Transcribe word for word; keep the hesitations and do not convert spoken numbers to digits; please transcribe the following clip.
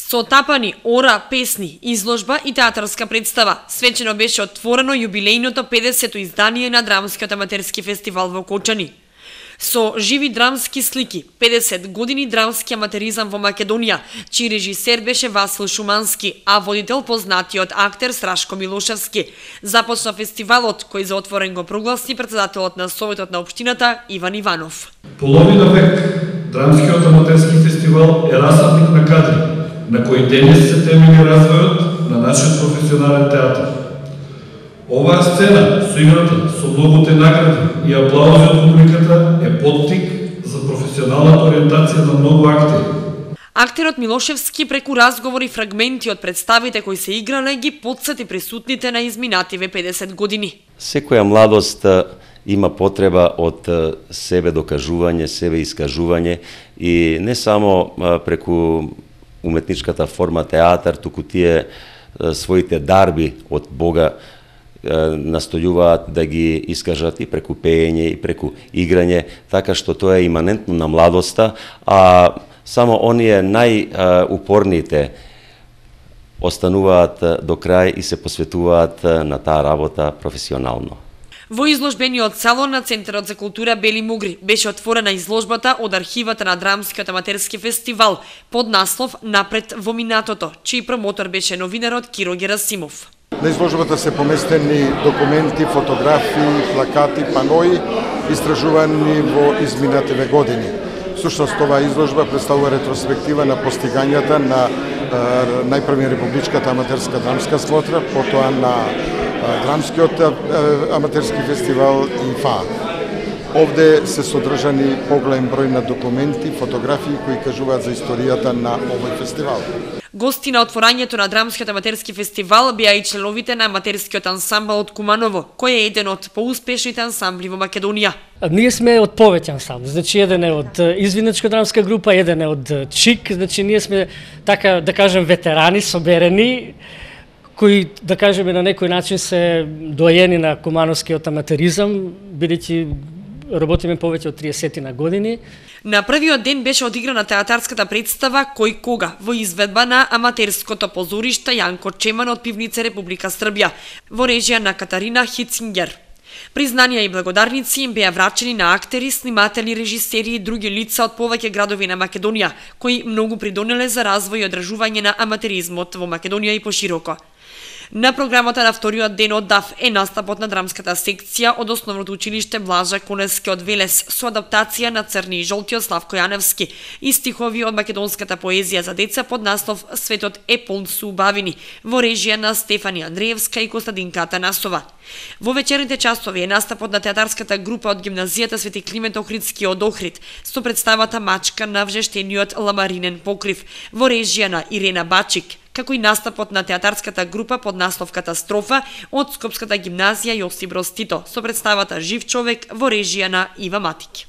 Со тапани, ора, песни, изложба и театарска представа, свечено беше отворено јубилејното педесето издание на Драмскиот аматерски фестивал во Кочани. Со живи драмски слики, педесет години драмски аматеризам во Македонија, чиј режисер беше Васил Шумански, а водител познатиот актер Страшко Милошевски. Започна фестивалот, кој за отворен го прогласи председателот на Советот на општината Иван Иванов. Половина век Драмскиот аматерски фестивал е расадник на кадри, на кој денес се темели развојот на нашиот професионален театар. Оваа сцена со играта, со многуте награди и аплаузи од публиката е поттик за професионалната ориентација на многу актери. Актерот Милошевски преку разговори и фрагменти од представите кои се играле ги потсети присутните на изминативе педесет години. Секоја младост има потреба од себе докажување, себе искажување и не само преку уметничката форма театар, туку тие своите дарби од Бога настојуваат да ги искажат и преку пеење и преку играње, така што тоа е иманентно на младоста, а само оние најупорните остануваат до крај и се посветуваат на таа работа професионално. Во изложбениот салон на Центарот за култура Бели Мугри беше отворена изложбата од архивата на Драмскиот аматерски фестивал под наслов Напред во минатото, чиј промотор беше новинарот Киро Герасимов. На изложбата се поместени документи, фотографии, плакати, панои, истражувани во изминативе години. Всушност, оваа изложба представува ретроспектива на постигањата на најпрви републичката аматерска драмска смотра, потоа на Драмскиот аматерски фестивал и ФА. Овде се содржани поголем број на документи, фотографии кои кажуваат за историјата на овој фестивал. Гости на отворањето на Драмскиот аматерски фестивал беа и членовите на аматерскиот ансамбл од Куманово, кој е еден од поуспешните ансамбли во Македонија. Ние сме од повеќе ансамбли, значи еден е од Извинечка драмска група, еден е од ЧИК, значи ние сме така да кажем ветерани, соберени, кои да кажеме на некој начин се доаени на кумановскиот аматеризам, бидејќи работиме повеќе од триесет на години. На првиот ден беше одиграна театарската представа Кој кога во изведба на аматерското позориште Јанко Чеман од Пивница Република Србија во режија на Катарина Хицингер. Признанија и благодарници им беа врачени на актери, сниматели, режисери и други лица од повеќе градови на Македонија, кои многу придонеле за развој и одржување на аматеризмот во Македонија и пошироко. На програмата на вториот ден од ДАФ е настапот на драмската секција од Основното училиште Блажа Конески од Велес со адаптација на Црни и жолти од Славко Јаневски и стихови од македонската поезија за деца под наслов Светот е полн со убавини во режија на Стефани Андреевска и Костадинка Атанасова. Во вечерните часови е настапот на театарската група од гимназијата Свети Климент Охридски од Охрид со представата Мачка на вжештениот ламаринен покрив во режија на Ирена Бачик, како и настапот на театарската група под наслов Катастрофа од Скопската гимназија Јосип Broz Tito со представата Жив човек во режија на Ива Матик.